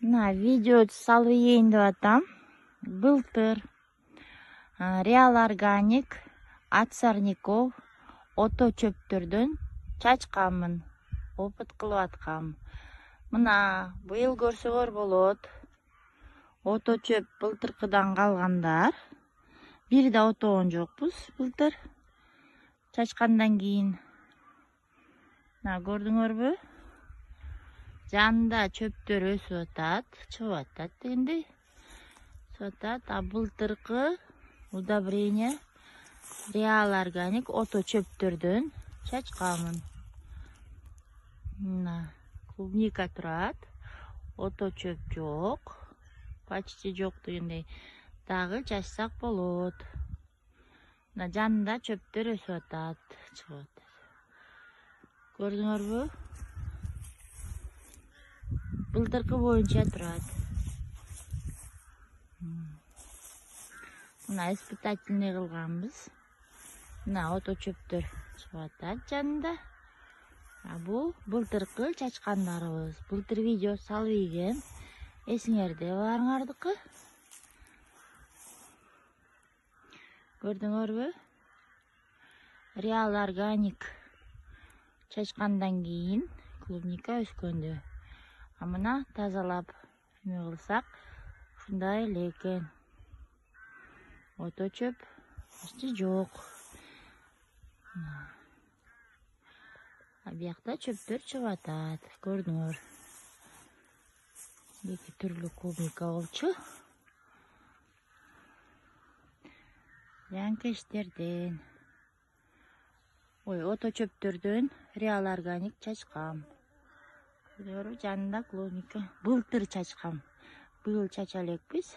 Видео салып ийин деп атам. Былтыр Реал Органик от сорняков ото чөптөрдөн чачканмын. Опыт кылып аткам. Мына быйыл көрсөңөр болот. Ото чөп былтыркыдан калгандар. Бир да отогон жокпуз былтыр. Чачкандан кийин. Көрдүңөрбү? Жанында чөптөр өсүп атат, чыгып атат дегендей. Өсүп атат. А былтыркы удобрение Реал Органик ото чөптөрдөн чачканмын. Мына клубника турат. Ото чөп жок. Почти жок дегендей. Дагы чачсак болот. Мына жанында чөптөр өсүп атат, чыгып атат. Көрдүңөрбү? Былтыркы боюнча турат. Мына испытательный кылганбыз. Мына ото чөптөр чыгып атат жанында. Бул былтыркы чачкандарыбыз. Былтыр видео салып ийген. Эсиңерде баарыңардыкы? Көрдүңөрбү? Реал Органик чачкандан кийин клубника өскөндө. А мына тазалап эме кылсак, ушундай эле экен. Ото чөп почти жок. Биякта чөптөр чыгып атат. Көрдүңөр. Эки түрлүү клубника болчу. Янкештерден. Ото чөптөрдөн Реал Органик чачкам. Көрдүңөрбү? Жанында клубника. Былтыр чачкам. Быйыл чача элекпиз.